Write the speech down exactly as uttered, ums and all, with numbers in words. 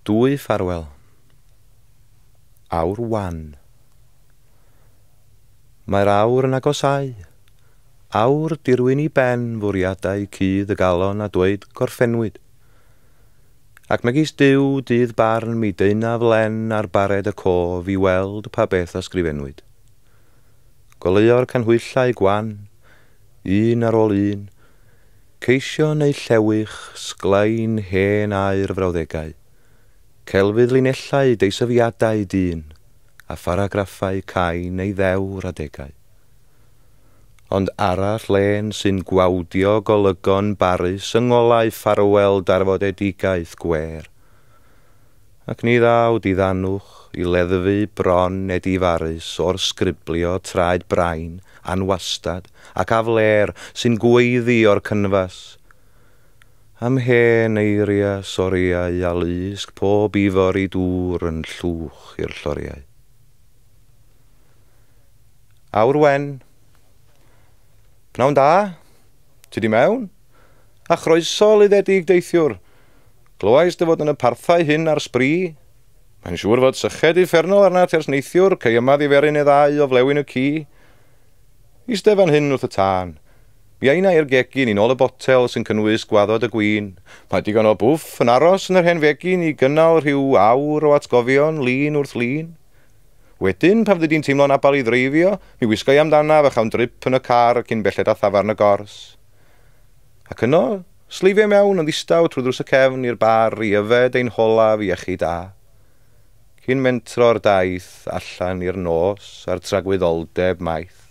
Dwy ffarwel. Awr wan. Mae'r awr yn agosáu. Awr dirwyn i ben fwriadau cudd y galon a dweud gorffennwyd. Ac megis Duw dydd barn mi deunaf len ar bared y cof i weld pa beth ysgrifennwyd. Goleuo'r canhwyllau gwan, un ar ôl un, ceisio neu llewych sglein hen aur frawddegau, celfydd linellau deisyfiadau dyn, a pharagraffau cain neu ddewr adegau. Ond arall lên sy'n gwawdio golygon barus yng ngolau ffarwel darfodedigaeth gwer. Ac ni ddaw diddanwch i leddfu bron edifarus o'r sgriblio traed brain, anwastad ac aflêr sy'n gweiddi o'r cynfas. Am hen eiriau soriau a lusg pob ifor i dŵr yn llwch i'r lloriau. Awr wen. Pnawn da, ti di mewn? A chroeso luddedig deithiwr. Glywais dy fod yn y parthau hyn ar sbri. Mae'n siŵr fod syched uffernol arnat ers neithiwr, cei yma ddiferyn neu ddau o flewyn y ci. Iste fan hyn wrth y tân. Mi a inna i'r gegin i nôl y botel sy'n cynnwys gwaddod y gwin. Mae digon o bwff yn aros yn yr hen fegin i gynnal rhyw awr o atgofion lun wrth lun. Wedyn, pan fyddi di'n teimlo'n abal i ddreifio, mi wisga i amdanaf a chawn drip yn y car cyn belled â thafarn y gors. Ac yno, sleifio mewn yn ddistaw trwy ddrws y cefn i'r bar i yfed ein holaf iechyd da. Cyn mentro'r daith allan i'r nos a'r tragwyddoldeb maith.